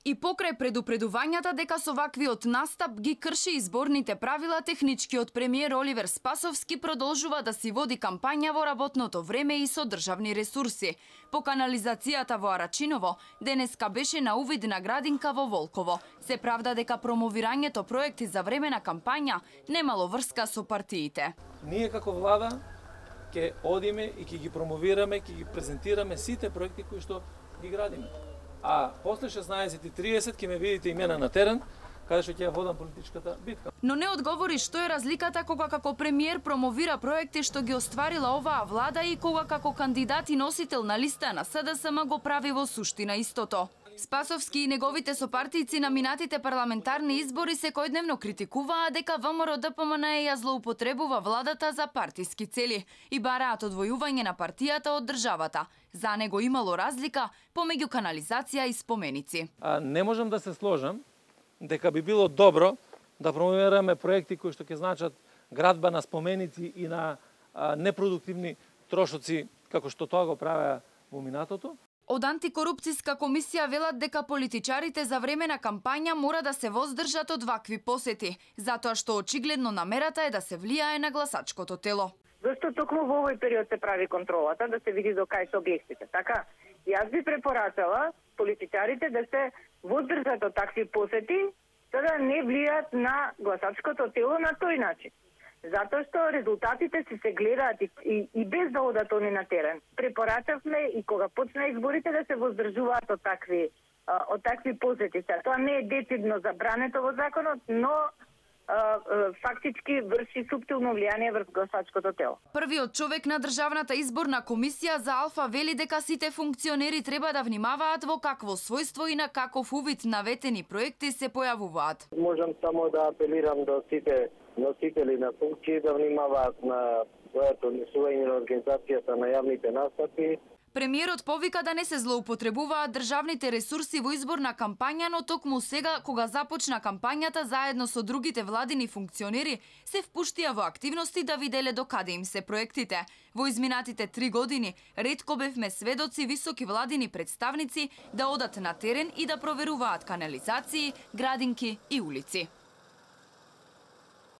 И покрај предупредувањата дека со ваквиот настап ги крши изборните правила, техничкиот премиер Оливер Спасовски продолжува да си води кампања во работното време и со државни ресурси. По канализацијата во Арачиново, денеска беше на увид на градинка во Волково. Се правда дека промовирањето проекти за време на кампања немало врска со партиите. Ние како влада ќе одиме и ќе ги промовираме, ќе ги презентираме сите проекти кои што ги градиме. А после 16:30 ќе ме видите имена на терен, каде што ќе ја водам политичката битка. Но не одговори што е разликата кога како премиер промовира проекти што ги остварила оваа влада и кога како кандидат и носител на листа на СДСМ го прави во суштина истото. Спасовски и неговите сопартијци на минатите парламентарни избори секојдневно критикуваа дека ВМРО-ДПМН ја злоупотребува владата за партиски цели и бараат одвојување на партијата од државата. За него имало разлика помеѓу канализација и споменици. Не можам да се сложам дека би било добро да промовираме проекти кои што ќе значат градба на споменици и на непродуктивни трошоци како што тоа го правеа во минатото. Од антикорупцијска комисија велат дека политичарите за време на кампања мора да се воздржат од вакви посети, затоа што очигледно намерата е да се влијае на гласачкото тело. Зашто токму во овој период се прави контролата, да се види до кај се објектите, така? Јас би препорачала политичарите да се воздржат од такви посети, за да не влијаат на гласачкото тело на тој начин. Затоа што резултатите се гледаат и без да одат они на терен. Препорачавме и кога почна изборите да се воздржуваат од такви посети. Тоа не е децидно забрането во законот, но фактички врши суптилно влијание врз гласачкото тело. Првиот човек на Државната изборна комисија за Алфа вели дека сите функционери треба да внимаваат во какво својство и на каков увид наветени проекти се појавуваат. Можам само да апелирам до сите носители на функции да внимаваат на своето однесување на организацијата на јавните настапи. Премиерот повика да не се злоупотребуваат државните ресурси во изборна кампања, но токму сега, кога започна кампањата, заедно со другите владини функционери, се впуштија во активности да виделе докаде им се проектите. Во изминатите 3 години, ретко бевме сведоци високи владини представници да одат на терен и да проверуваат канализации, градинки и улици.